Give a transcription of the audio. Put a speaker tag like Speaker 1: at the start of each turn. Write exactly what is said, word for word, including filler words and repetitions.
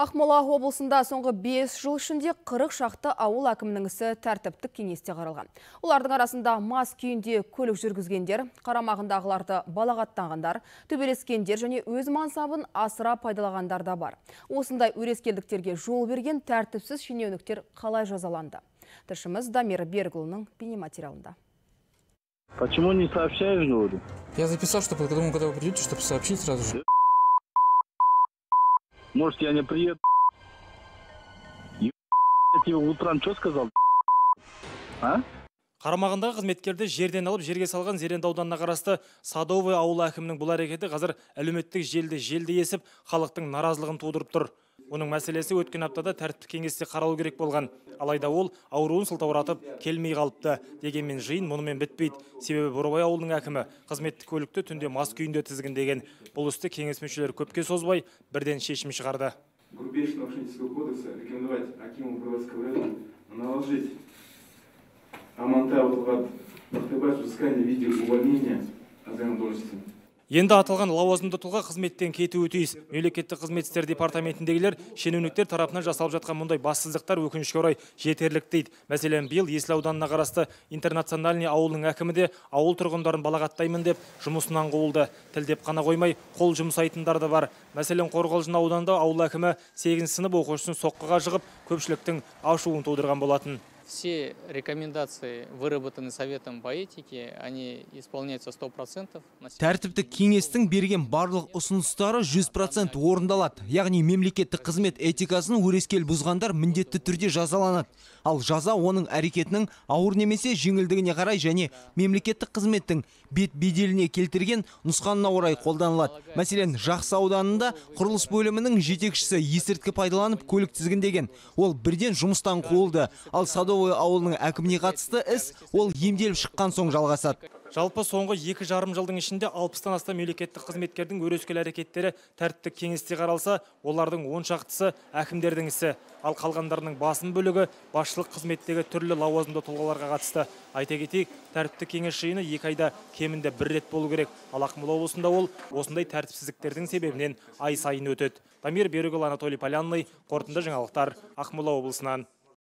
Speaker 1: Ақмола облысында соңғы бес жыл ішінде қырық шақты ауыл әкімінің ісі тәртіптік кеңесте қаралған. Олардың арасында мас күйінде көлік жүргізгендер, қарамағындағыларды балағаттағандар, төбелескендер және өз мансабын асыра пайдалағандар да бар. Осындай өрескелдіктерге жол берген тәртіпсіз шенеуніктер қалай жазаланды? Тілшіміз Дамир Берікұлының бейнематериалында.
Speaker 2: Почему не сообщаешь, говорю?
Speaker 3: Я записал, чтобы когда вы придете, чтобы сообщить сразу же.
Speaker 2: Может, я не приеду? Я тебе утром что сказал? А?
Speaker 4: Қарамағындағы қызметкерді жерден алып жерге салған Зеренді ауданына қарасты Садовый ауыл әкімінің бұл әрекеті қазір әлеуметтік желіде желді есіп, халықтың наразылығын тудырып тұр. Оның мәселесі өткен аптада тәртіптік кеңесте қаралу керек болған. Алайда ол ауруын сылтауратып келмей қалыпты. Дегенмен жиын мұнымен бітпейді. Себебі Бурабай ауылының әкімі қызметтік көлікті түнде мас күйінде тізгіндеген. Бұл істі кеңес мүшелері көпке созбай бірден шешім шығарды.
Speaker 5: Грубейшего нарушительского кодекса рекомендовать Акиму Бурабайского района наложить Амантай Утылғат Бақтыбаев взыскание в виде увольнения от заемной должности.
Speaker 4: Енді аталған лауазымды тұлға қызметтен кетуі тиіс. Мемлекеттік қызмет істері департаментіндегілер шенеуніктер тарапынан жасалып жатқан мұндай бассыздықтар өкінішке орай жетерлік дейді. Мәселен, биыл Есіл ауданына қарасты Интернациональный ауылының әкімі де ауыл тұрғындарын балағаттаймын деп жұмысынан қуылды. Тілдеп қана қоймай, қол жұмсайтындар да бар. Мәселен, Қорғалжын ауданында ауыл әкімі сегізінші сынып оқушысын соққыға жығып, көпшіліктің ашуын тудырған болатын.
Speaker 6: Все рекомендации, выработанные Советом по этике, они исполняются сто процентов.
Speaker 7: Тәртіптік кеңестің берген барлық ұсыныстары жүз процент орындалады. Яғни мемлекеттік қызмет этикасын өрескел бұзғандар міндетті түрде жазаланады. Ал жаза оның әрекетінің ауыр немесе жеңілдігіне қарай және мемлекеттік қызметтің бет беделіне келтірген нұсқанына орай қолданылады. Мәселен, Жақсы ауданында құрылыс бөлімінің жетекшісі есірткі пайдаланып көлік тізгіндеген. Ол бірден жұмыстан қуылды. Ал Садовый ауылының әкіміне қатысты іс ол емделіп шыққан соң жалғасады.
Speaker 4: Жалпы соңғы екі жарым жылдың ішінде алпыстан астам мемлекеттік қызметкердің өрескел әрекеттері тәртіптік кеңесте қаралса, олардың он шақтысы әкімдердің ісі, ал қалғандарының басым бөлігі басшылық қызметтегі түрлі лауазымды тұлғаларға қатысты. Айта кетейік, тәртіптік кеңес жиыны екі айда кемінде бір рет болу керек. Ал Ақмола облысында ол осындай тәртіпсіздіктердің себебінен ай сайын өтеді. Дамир Берікұлы, Анатолий Полянный, қорытынды жаңалықтар, Ақмола облысынан.